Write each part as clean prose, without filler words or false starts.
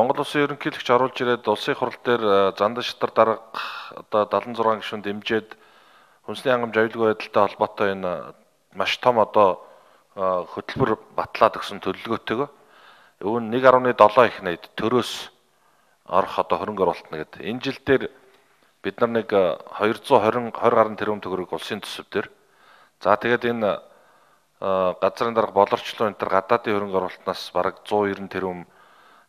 Монгол Улсын ерөнхийлөгч оруулж ирээд улсын хурал дээр зандан шатар дарга одоо 76 гишүүн дэмжиж хүнсний хангамж аюулгүй байдалтай холбоотой энэ маш том одоо хөтөлбөр батлаад өгсөн төлөвлөгөөтэйгөө өвн 1.7 их найд төрөөс орох одоо хөрөнгө оруулалтна гэдэг. Энэ жил дээр бид нар нэг 220 гаруй тэрбум төгрөг улсын төсөв дээр. За тэгээд энэ газрын дарга болорчлоо энэ төр гадаадын хөрөнгө оруулалтнаас бараг 190 тэрбум,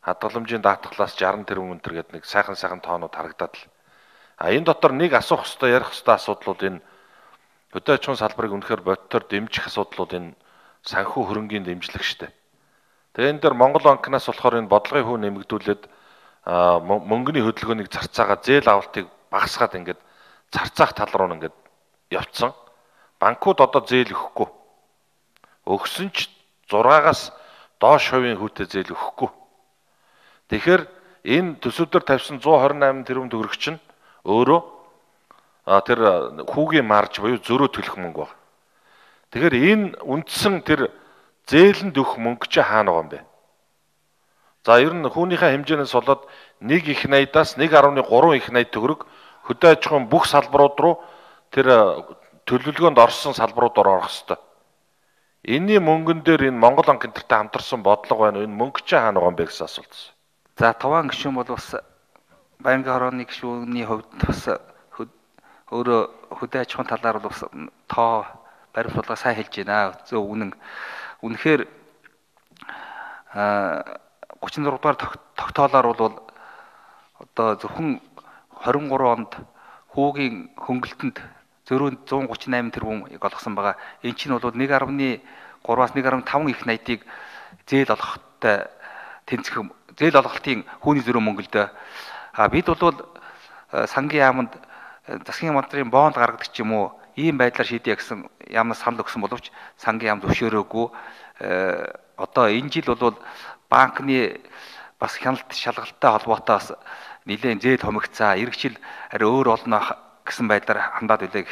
хадгаламжийн даатгалаас 60 тэрбум өнтер гэдэг нэг сайхан тоонууд харагдаад л. Энэ дотор нэг асуух хэвээр ярих хэвээр асуудлууд энэ хөдөө аж ахуйн салбарыг үнэхээр бодтоор дэмжих асуудлууд энэ санхүү хөрөнгийн дэмжлэг штэ. Тэгээ энэ дээр Монгол банкнаас болохоор энэ бодлогын хүү нэмэгдүүлээд мөнгөний хөдөлгөөнийг зарцаагаа зээл авалтыг багасгаад ингээд зарцаах тал руу ингээд явцсан. Банкуд одоо зээл өгөхгүй. Өгсөн ч 6-аас доош хувийн хүүтэй зээл өгөхгүй. Тэгэхээр энэ төсөвдөр тавьсан 128 тэрбум төгрөг чинь өөрөө тэр хүүгийн марж буюу зөрөө төлөх мөнгө байна. Тэгэхээр энэ үндсэн тэр зээлэнд өгөх мөнгө чи хаана байгаа юм бэ? За ер нь хүүнийхээ хэмжээнээс болоод 1 их найдаас 1.3 их найд төгрөг хөдөө аж ахуйн бүх салбарууд руу тэр төлөвлөгөөнд орсон салбаруудаар орох ёстой. Энийн мөнгөн дээр энэ Монгол банк энтертэй хамтарсан бодлого байна. Энэ мөнгө чи хаана байгаа юм бэ гэсэн асуулт байна. За туван гишүүн бол бас байнгын хорооны гишүүний хувьд бас өөрөө хөдөө аж ахуйн талаар бол бас тоо баримтлага сайн хэлж байна. Зөв үнэн. Үнэхээр 36 дугаар тогтоолоор бол одоо зөвхөн 23 онд хүүгийн хөнгөлтөнд зөрүүнд 138 тэрбумыг олгосон байгаа. Энэ чинь бол 1.3-аас 1.5 их найдыг зээл олгохтой тэнцэх зээл олголтын хүүний зөрөө мөнгөлдөө. Бид бол сангийн яамд засгийн мандрын бонд гаргадаг ч юм уу ийм байдлаар шийдэе гэсэн яамнаас санал өгсөн боловч сангийн яам зөвшөөрөөгүй. Одоо энэ жил бол банкны бас хяналт шалгалттай холбоотой бас нэлээд зээл хомигцаа, ирэх жил арай өөр олно гэсэн байдлаар хандаад үлээ.